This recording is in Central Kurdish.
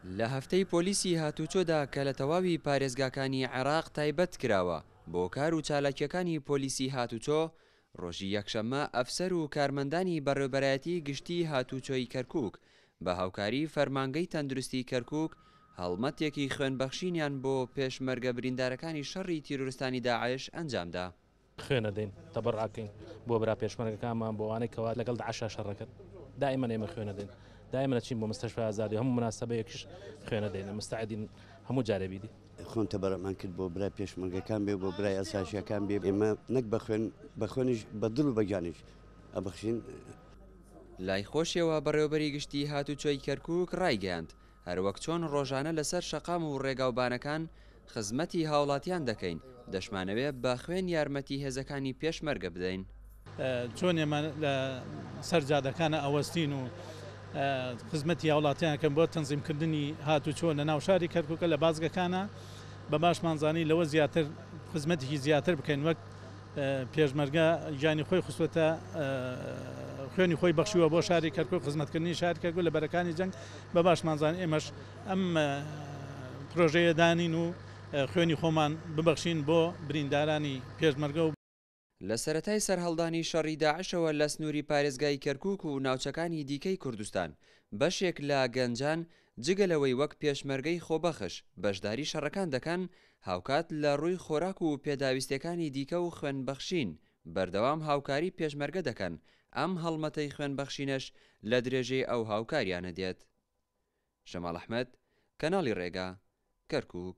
لە هەفتەی پۆلیسی هاتوچۆدا کە لە تەواوی پارێزگاکانی عێراق تایبەت کراوە بۆ کار و چالاکییەکانی پۆلیسی هاتوچۆ، ڕۆژی یەکشەممە ئەفسەر و کارمەندانی بەڕێوبەرایەتی گشتیی هاتوچۆی کەرکوک بە هاوکاری فەرمانگەی تەندروستی کەرکوک هەڵمەتێکی خوێنبەخشینیان بۆ پێشمەرگە بریندارەکانی شەڕی تیرۆرستانی داعش ئەنجامدا. خوێن ئەدەین تەبەڕع ئەکەین بۆ برا پێشمەرگەکانمان بۆ ئەوانەی کەوا لەگەڵ داعشا شەڕەکەن دائیمەن ئێمە خوێن ئەدەین دائیمەن ئەچین بۆ مستەشفای ئازادی هەموو مناسەبەیەکیش خوێن ئەدەین مستعدین هەموو جارێ بیدی. خۆم تەبەڕعمان کرد بۆ برای پێشمەرگەکان بێ بۆ برای ئەساسیەکان بێ ئێمە نەک بە خوێن بە خوێنیش بە دڵ و بە گیانیش ئەبەخشین. لای خۆشیەوە بەڕێوەبەری گشتی هاتوچۆی کەرکوک ڕایگەیاند، هەروەک چۆن ڕۆژانە لەسەر شەقام و ڕێگاوبانەکان خزمەتی هاوڵاتیان دەکەین، دەشمانەوێ بە خوێن یارمەتی هێزەکانی پێشمەرگە بدەین. چۆن ئێمە لە سەر جادەکانە ئەوەستین و خزمەتی هاوڵاتیان ئەکەن بۆ تەنزیمکردنی هاتوچۆ لە ناو شاری کەرکوکە لە بازگەکانە بە باشمان زانی لەوە زیاتر خزمەتێکی زیاتر بکەین وەک پێشمەرگە گیانی خۆی خستووەتە خوێنی خۆی بەخشیوە بۆ شاری کەرکوک خزمەتکردنی شاری کەرکوک لە بەرەکانی جەنگ بە باشمان زانی ئێمەش ئەم پرۆژەیە دانین و خوێنی خۆمان ببەخشین بۆ بریندارانی پێشمەرگە و. لە سەرەتای سەرهەڵدانی شەڕی داعشەوە لە سنووری پارێزگای کەرکوک و ناوچەکانی دیکەی کوردستان، بەشێک لە گەنجان جگە لەوەی وەک پێشمەرگەی خۆبەخش بەشداری شەڕەکان دەکەن، هاوکات لە ڕووی خۆراک و پێداویستیەکانی دیکە و خوێنبەخشین بەردەوام هاوکاری پێشمەرگە دەکەن، ئەم هەڵمەتەی خوێنبەخشینەش لە درێژەی ئەو هاوکاریانە دێت. شەماڵ ئەحمەد، کەناڵی ڕێگا، کەرکوک.